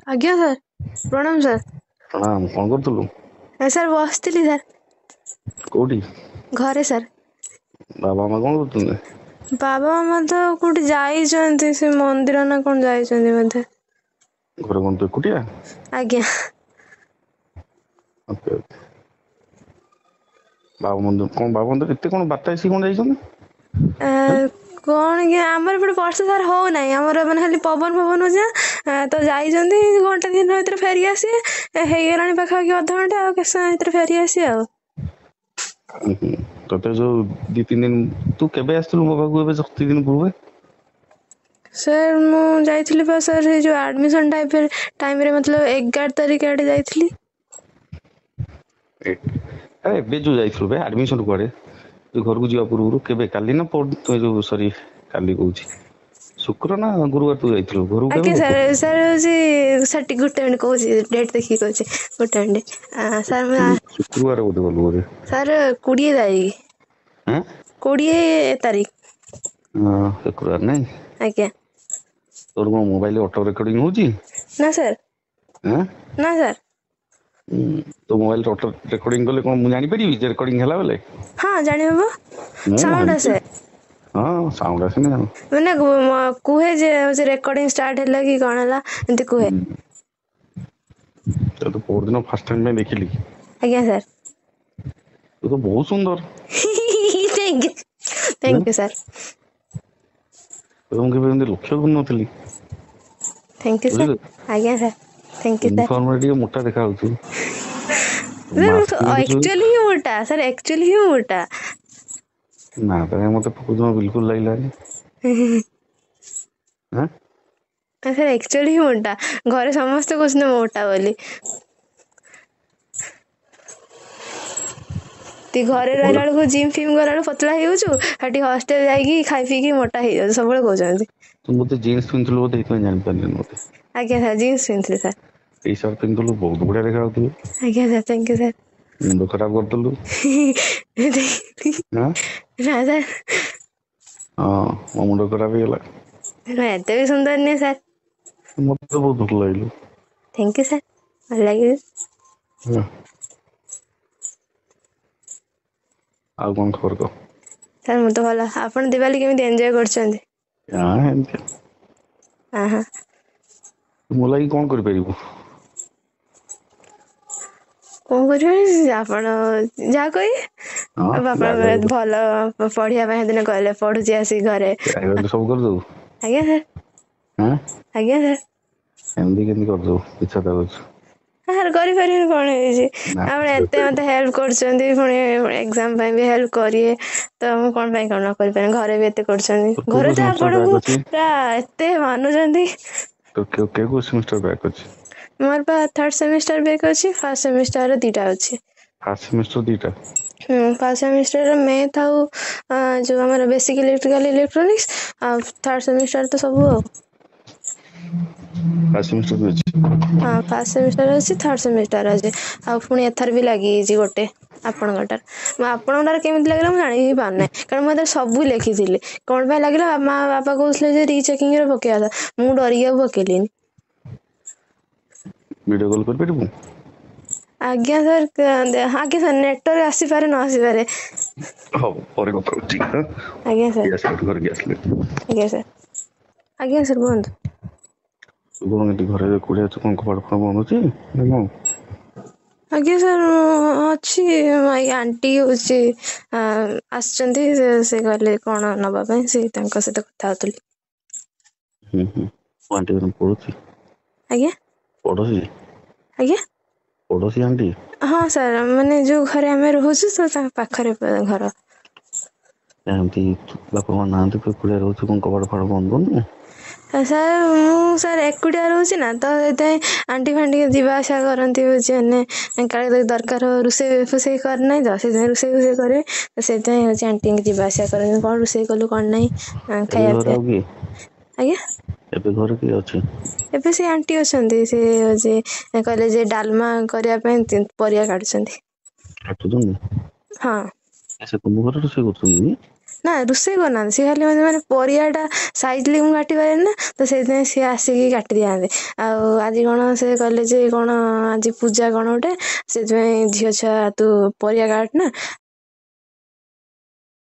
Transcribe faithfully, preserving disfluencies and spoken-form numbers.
ଆଜ୍ଞା ସାର୍, ପ୍ରଣାମ ସାର୍। ପ୍ରଣାମ। କଣ କରୁଥିଲୁ? ସାର୍ ବସିଥିଲି ସାର୍। କୋଉଠି? ଘରେ ସାର୍। ବାବା ମାମା କଣ କରୁଛନ୍ତି? ବାବା ମାମା ତ କୋଉଠି ଯାଇଛନ୍ତି, ସେ ମନ୍ଦିର ନା କଣ ଯାଇଛନ୍ତି ବୋଧେ। ଘରେ କଣ ତୁ ଏକୁଟିଆ? ଆଜ୍ଞା। Okay okay. ବାବା ମନ୍ଦିର କଣ, ବାବା ମନ୍ଦିର ଏତେ କଣ ବାରଟା ଆସିକି କଣ ଯାଇଛନ୍ତି? ଏ, କଣ କି ଆମର ଏପଟେ ବର୍ଷା ସାର୍ ହଉନାହିଁ, ଆମର ମାନେ ଖାଲି ପବନ ଫବନ ହଉଛି ନା, ତ ଯାଇଛନ୍ତି ଘଣ୍ଟା ଦି ଘଣ୍ଟା ଭିତରେ ଫେରିକି ଆସିବେ। ହେଇଗଲାଣି ପାଖାପାଖି ଅଧଘଣ୍ଟା, ଆଉ କେତେ ସମୟ ଭିତରେ ଫେରିକି ଆସିବେ ଆଉ। ହୁଁ ହୁଁ। ତତେ ଯୋଉ ଦି ତିନି ଦିନ, ତୁ କେବେ ଆସିଥିଲୁ ମୋ ପାଖକୁ ଏବେ ଦି ଦିନ ପୂର୍ବେ? ସାର୍ ମୁଁ ଯାଇଥିଲି ପା ସାର୍, ସେଇ ଯୋଉ ଆଡମିସନ ଟାଇପ ଟାଇମରେ, ମତଲବ ଏଗାର ତାରିଖ ଆଡେ ଯାଇଥିଲି। ଆରେ ଏବେ ଯୋଉ ଯାଇଥିଲୁ ବେ, ଆଡମିସନ କୁଆଡେ, ଯୋଉ ଘରକୁ ଯିବା ପୂର୍ବରୁ କେବେ, କାଲି ନା ପର, ଯୋଉ ସରି କାଲି କହୁଛି, ଶୁକ୍ର ନା ଗୁରୁବାର ତୁ ଯାଇଥିଲୁ ଘରକୁ କେବେ ଆଜ୍ଞା ଗଲୁ? ସାର୍, ସାର୍ ହଉଛି ସାର୍ ଟିକେ ଗୋଟେ ମିନିଟ୍ କହୁଛି, ଡେଟ୍ ଦେଖିକି କହୁଛି, ଗୋଟେ ମିନିଟ୍ ସାର୍। ମୁଁ ଶୁକ୍ରବାର ବୋଧେ ଗଲୁ ବୋଧେ। ସାର୍ କୋଡ଼ିଏ ତାରିଖ। ଆଁ? କୋଡ଼ିଏ ତାରିଖ। ହଁ, ଶୁକ୍ରବାର ନାଇଁ? ଆଜ୍ଞା। ତୋର କଣ ମୋବାଇଲ ଅଟୋ ରେକର୍ଡିଂ ହଉଛି? ନା ସାର୍। ଆଁ? ନା ସାର୍। ତୋ ମୋବାଇଲ ଅଟୋ ରେକର୍ଡିଂ କଲେ କଣ ମୁଁ ଜାଣିପାରିବି ଯେ ରେକର୍ଡିଂ ହେଲା ବେଲେ? ହଁ, ଜାଣିହବ। ମୁଁ ସାଉଣ୍ଡ ଏମିତି ଆସେ। ହଁ, ସାଉଣ୍ଡ ଆସେନି ଆଉ। ମାନେ କୁହେ ଯେ ହଉଛି ରେକର୍ଡିଂ ଷ୍ଟାର୍ଟ ହେଲା କି କଣ ହେଲା, ଏମିତି କୁହେ। ତୋତେ ପରଦିନ ଫାର୍ଷ୍ଟ ଟାଇମ ପାଇଁ ଦେଖିଲି। ଆଜ୍ଞା ସାର୍। ତୁ ତ ବହୁତ ସୁନ୍ଦର। Thank you, ହୁଁ, thank you sir. ତୋତେ ମୁଁ କେବେ ଏମିତି ଲକ୍ଷ୍ୟ କରିନଥିଲି। Thank you sir. ବୁଝିଲୁ? ଆଜ୍ଞା ସାର୍, thank you sir. ୟୁନିଫର୍ମରେ ଟିକେ ମୋଟା ଦେଖା ଯାଉଛୁ। ସାର୍ ମାସ୍କ ମୁଁ ପିନ୍ଧୁଛୁ। ଆକ୍ଚୁଆଲି ହିଁ ମୋଟା ସାର୍, ଆକ୍ଚୁଆଲି ହିଁ ମୋଟା। ନା ତ କାଇଁ ମତେ ଜମା ବିଲକୁଲ ଲାଗିଲାନି। ଆଁ? ସାର୍ ଆକ୍ଚୁଆଲି ହିଁ ମୋଟା, ଘରେ ସମସ୍ତେ କହୁଛନ୍ତି ମୋଟା ବୋଲି। ତି ଘରେ ରହିଲା ବେଳକୁ ଜିମ୍ ଫିମ୍ ଗଲା ବେଳକୁ ପତଳା ହେଇଯାଉଛୁ, ସେଠି ହଷ୍ଟେଲ ଯାଇକି ଖାଇ ପିଇକି ମୋଟା ହେଇଯାଉଛୁ, ସବୁବେଳେ କହୁଛନ୍ତି। ତୁ ବୋଧେ ଜିନ୍ସ ପିନ୍ଧୁଥିଲୁ ବୋଧେ, ଏଇଥିପାଇଁ ଜାଣିପାରିଲିନି ବୋଧେ। ଆଜ୍ଞା ସାର୍, ଜିନ୍ସ ପିନ୍ଧୁଥିଲି ସାର୍। ଟି ସାର୍ଟ ପିନ୍ଧୁଥିଲୁ, ବହୁତ ବଢିଆ ଦେଖା ଯାଉଥିଲୁ। ଆଜ୍ଞା ସାର୍, thank you sir. ମୁଣ୍ଡ ଖରାପ କରିଦେଲୁ। ଆଁ? ନା ସାର୍। ହଁ, ମୋ ମୁଣ୍ଡ ଖରାପ ହେଇଗଲା। ନା, ଏତେ ବି ସୁନ୍ଦର ନୁହେଁ ସାର୍। ମତେ ତ ବହୁତ ଭଲ ଲାଗିଲୁ। Thank you sir, ଭଲ ଲାଗିଲା। ହଁ। ଆଉ କଣ ଖବର କହ? ସାର୍ ମୁଁ ତ ଭଲ, ଆପଣ ଦିୱାଲୀ କେମିତି ଏନ୍ଜୟ କରୁଛନ୍ତି? ହଁ, ଏମିତି। ହଁ ହଁ। ତୁ ମୋ ଲାଗି କଣ କରିପାରିବୁ? କଣ କରିବି, ଆପଣ ଯାହା କହିବେ। ହଁ, ଆଉ ଯାହା ବାପା କହିବୁ ଭଲ ପଢିବା ପାଇଁ ସେଦିନ କହିଲେ, ପଢୁଛି ଆସିକି ଘରେ। ଯାହା କହିଲେ ସବୁ କରିଦବୁ? ଆଜ୍ଞା ସାର୍। ଆଁ? ଆଜ୍ଞା ସାର୍। ଏମିତି କେମିତି କରିଦବୁ, ମିଛ କଥା କହୁଛୁ। ସାର୍ କରିପାରିବିନି କଣ ହେଇଛି? ନା, ଆପଣ ଏତେ ମତେ ହେଲ୍ପ କରୁଛନ୍ତି, ପୁଣି ଏକ୍ସାମ ପାଇଁ ବି ହେଲ୍ପ କରିବେ, ତ ମୁଁ କଣ ପାଇଁ କଣ ନ କରିପାରିବି? ଘରେ ବି ଏତେ କରୁଛନ୍ତି, ତୋର କୋଉ ଘରେ କୋଉ ତ ସେମିଷ୍ଟର ଆପଣଙ୍କୁ ବ୍ୟାକ୍ ଅଛି? ପୁରା ଏତେ ମାନୁଛନ୍ତି। ତୋର କେଉଁ କେଉଁ ସେମିଷ୍ଟର ବ୍ୟାକ୍ ଅଛି? ମୋର ପା ଥାର୍ଡ ସେମିଷ୍ଟାର ବ୍ୟାକ୍ ଅଛି, ଫାର୍ଷ୍ଟ ସେମିଷ୍ଟାର ଦିଟା ଅଛି। ଫାର୍ଷ୍ଟ ସେମିଷ୍ଟର ଦିଟା? ହୁଁ, ଫାର୍ଷ୍ଟ ସେମିଷ୍ଟାର ମ୍ୟାଥ୍ ଆଉ ଯୋଉ ଆମର ବେସିକ୍ ଇଲେକ୍ଟ୍ରିକାଲ ଇଲେକ୍ଟ୍ରୋନିକ୍ସ, ଆଉ ଥାର୍ଡ ସେମିଷ୍ଟାର ତ ସବୁ ଆଉ। ଫାର୍ଷ୍ଟ ସେମିଷ୍ଟର ବି ଅଛି? ହଁ, ଫାର୍ଷ୍ଟ ସେମିଷ୍ଟାର ଅଛି, ଥାର୍ଡ ସେମିଷ୍ଟାର ଅଛି, ଆଉ ପୁଣି ଏଥର ବି ଲାଗିଯାଇଛି ଗୋଟେ ଆପଣଙ୍କଟାରେ। ମୁଁ ଆପଣଙ୍କଟାରେ କେମିତି ଲାଗିଲା ମୁଁ ଜାଣି ହିଁ ପାରୁନାହିଁ, କାରଣ ମୁଁ ଏଥିରେ ସବୁ ଲେଖିଥିଲି। କଣ ପାଇଁ ଲାଗିଲା, ମା ବାପା କହୁଥିଲେ ଯେ ରିଚେକିଂରେ ପକେଇବା କଥା, ମୁଁ ଡରିକି ଆଉ ପକେଇଲିନି। ଭିଡ଼ିଓ କଲ୍ କରିପାରିବୁ? ଆଜ୍ଞା ସାର୍, ଆଜ୍ଞା ସାର୍, ନେଟୱାର୍କ ଆସିପାରେ ନ ଆସିପାରେ। ହଉ, ପରେ କଥା ହଉଛି। ଆଜ୍ଞା ସାର୍। ଆସିଲେ, ଘରକି ଆସିଲେ। ଆଜ୍ଞା ସାର୍, ଆଜ୍ଞା ସାର୍, କୁହନ୍ତୁ। ତୁ କଣ ଏଠି ଘରେ ଏକୁଟିଆ ଅଛୁ, କଣ କବାଟ ଫବାଟ ବନ୍ଦ ଅଛି ନା କଣ? ଆଜ୍ଞା ସାର୍, ଅଛି। ଆଣ୍ଟି ହଉଛି ଆସିଛନ୍ତି, ସେ କହିଲେ କଣ ନବା ପାଇଁ, ସେ ତାଙ୍କ ସହିତ କଥା ହଉଥିଲି। ହୁଁ ହୁଁ, ଆଣ୍ଟି କଣ ପଡୋଶୀ? ଆଜ୍ଞା। ପଡୋଶୀ? ଆଜ୍ଞା। ପଡୋଶୀ ଆଣ୍ଟି? ହଁ ସାର୍, ମାନେ ଯୋଉ ଘରେ ଆମେ ରହୁଛୁ ତ ତାଙ୍କ ପାଖରେ ଘର। ଏମିତି ବାପା ମା ନାହାନ୍ତି, ତୁ ଏକୁଟିଆ ରହୁଛୁ, କଣ କବାଟ ଫବାଟ ବନ୍ଦ କରୁନୁ? ସାର୍ ମୁଁ ସାର୍ ଏକୁଟିଆ ରହୁଛି ନା, ତ ସେଥିପାଇଁ ଆଣ୍ଟି ଫାଣ୍ଟି ଯିବା ଆସିବା କରନ୍ତି, ହଉଛି ମାନେ କାଳେ ଯଦି ଦରକାର ହବ, ରୋଷେଇ ଫୋଷେଇ କରିନାହିଁ ତ ସେଥିପାଇଁ ରୋଷେଇ ଫୋଷେଇ କରିବେ ତ, ସେଥିପାଇଁ ହଉଛି ଆଣ୍ଟି ଯିବା ଆସିବା କରନ୍ତି, କଣ ରୋଷେଇ କଲୁ କଣ ନାହିଁ ଏବେ ଖାଇବା ଘରେ ପିଇବା। ଆଉ କିଏ? ଆଜ୍ଞା। ଏବେ ଘରେ କିଏ ଅଛି? ଏବେ ସେ ଆଣ୍ଟି ଅଛନ୍ତି, ସେ ହଉଛି କହିଲେ ଯେ ଡାଲମା କରିବା ପାଇଁ ପରିବା କାଟୁଛନ୍ତି। କାଟୁଛନ୍ତି? ହଁ। ସେ ତୁମ ଘରେ ରୋଷେଇ କରୁଛନ୍ତି? ନା ରୋଷେଇ କରୁନାହାନ୍ତି, ସିଏ ଖାଲି ମାନେ ମାନେ ପରିବା ଟା ସାଇଜଲି ମୁଁ କାଟି ପାରେନି ନା, ତ ସେଇଥିପାଇଁ ସିଏ ଆସିକି କାଟି ଦିଅନ୍ତି। ଆଉ ଆଜି କଣ ସେ କହିଲେ ଯେ କଣ ଆଜି ପୂଜା କଣ ଗୋଟେ, ସେଥିପାଇଁ ଝିଅ ଛୁଆ ତୁ ପରିବା କାଟ ନା।